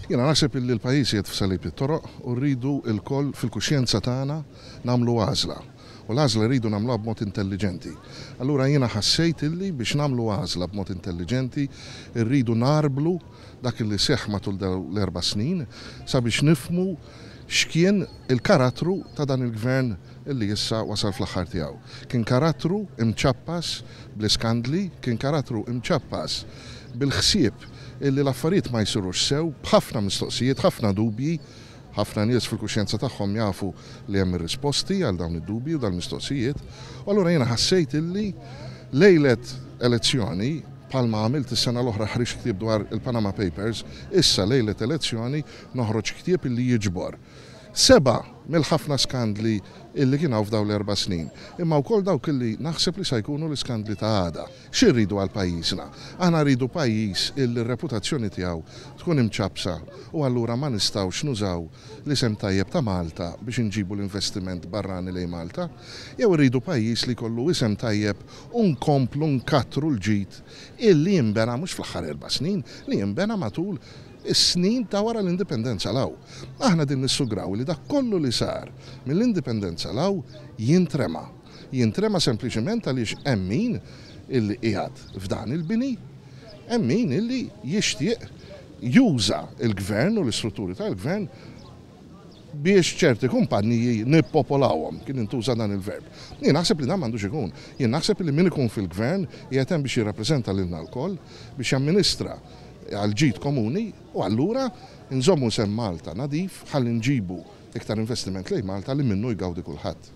Jiena naħseb illi l-pajjiż qiegħed f'salib it-toroq u rridu lkoll fil-kuxjenza tagħna nagħmlu għażla. U l-għażla rridu nagħmluha b'mod intelliġenti. Allura jiena ħassejt illi biex nagħmlu għażla b'mod intelliġenti rridu ngħarblu dak illi seħħ matul dawn l-erba' snin sabiex nifhmu x'kien il-karattru ta' dan il-Gvern illi issa wasal fl-aħħar tiegħu. Kien karattru imċappas bl-iskandli, kien karattru imċappas bil-ħsieb illi l-affarijiet ma jsirux sew, b'ħafna mistoqsijiet, ħafna dubji, ħafna nies fil-kuxjenza tagħhom jafu li hemm ir-risposti għal dawn id-dubji u dal-mistoqsijiet, u allura jiena ħassejt illi lejlet elezzjoni, bħalma għamilt is-sena l-oħra ħriġt ktieb dwar il-Panama Papers, issa lejlet elezzjoni noħroġ ktieb illi jiġbor Sebgħa mill-ħafna skandli illi kien hawn f'dawn l-erba' snin, imma wkoll dawk illi naħseb li sa jkunu l-iskandli ta' għada. Xi rridu għal pajjiżna? Aħna rridu pajjiż illi r-reputazzjoni tiegħu tkun imċappsa u allura ma nistgħux nużaw l-isem tajjeb ta' Malta biex inġibu l-investiment barrani lejn Malta? Jew irridu pajjiż li jkollu isem tajjeb u nkomplu nkattru l-ġid illi inbena mhux fl-aħħar erba' snin, li inbena matul is-snin ta' wara l-Indipendenza 'l hawn. Aħna qegħdin nissugraw li dak kollu li sar mill-Indipendenza 'l hawn jintrema. Jintrema sempliċement għaliex hemm min illi qiegħed f'dan il-bini, hemm min illi jixtieq juża l-Gvern u l-istrutturi tal-Gvern biex ċerti kumpanniji nippopolawhom, kien intuża dan il-verb. Jien naħseb li dan m'għandux ikun. Jien naħseb li min ikun fil-Gvern qiegħed hemm biex jirrappreżenta lilna lkoll, biex jamministra għall-ġid komuni u allura nżommu isem Malta nadif ħalli nġibu iktar investiment lejn Malta li minnu jgawdi kulħadd.